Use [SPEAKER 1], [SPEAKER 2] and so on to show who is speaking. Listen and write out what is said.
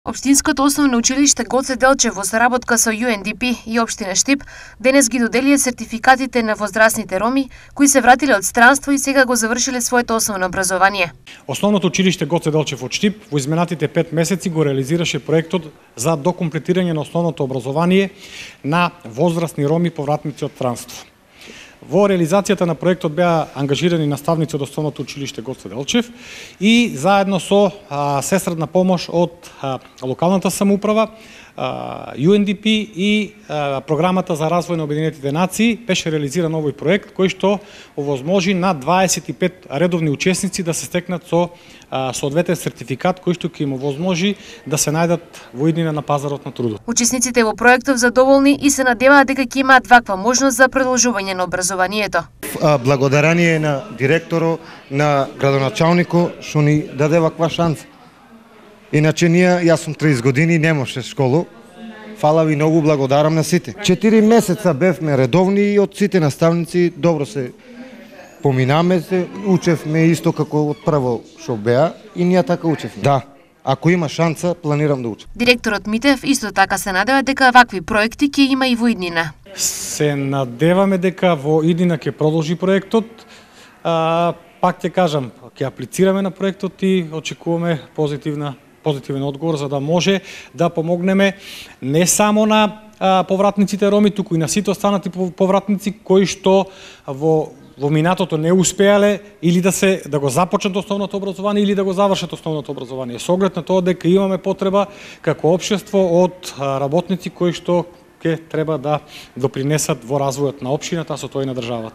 [SPEAKER 1] Општинското основно училиште Гоце Делчев во соработка со UNDP и општина Штип денес ги доделија сертификатите на возрастните роми кои се вратиле од странство и сега го завршиле своето основно образование.
[SPEAKER 2] Основното училиште Гоце Делчев од Штип во изминатите 5 месеци го реализираше проектот за докомплетирање на основното образование на возрастни роми повратници од странство. Во реализацијата на проектот беа ангажирани наставници од основното училиште Гоце Делчев и заедно со сестрадна помош од локалната самоуправа, UNDP и програмата за развој на Обединетите нации беше реализиран овој проект кој што овозможи на 25 редовни учесници да се стекнат со соодветен сертификат кој што ќе им овозможи да се најдат во иднина на пазарот на трудот.
[SPEAKER 1] Учесниците во проектот задоволни и се надеваат дека ќе имаат ваква можност за продолжување на образованието.
[SPEAKER 3] Благодарение на директорот, на градоначалникот што ни даде ваква шанса. Иначе јас сум 30 години, немаше школа. Фала ви многу, благодарам на сите. 4 месеца бевме редовни и од сите наставници добро се поминаме се, учевме исто како од прво што беа и ние така учевме. Да, ако има шанса, планирам да учам.
[SPEAKER 1] Директорот Митев исто така се надева дека вакви проекти ќе има и во иднина.
[SPEAKER 2] Се надеваме дека во иднина ќе продолжи проектот. Пак ќе кажам, ќе аплицираме на проектот и очекуваме позитивен одговор за да може да помогнеме не само на повратниците роми, туку и на сите останати повратници кои што во минатото не успеале или да го започнат основното образование или да го завршат основното образование. Со оглед на тоа дека имаме потреба како општество од работници кои што ќе треба да допринесат во развојот на општината, а со тоа и на државата.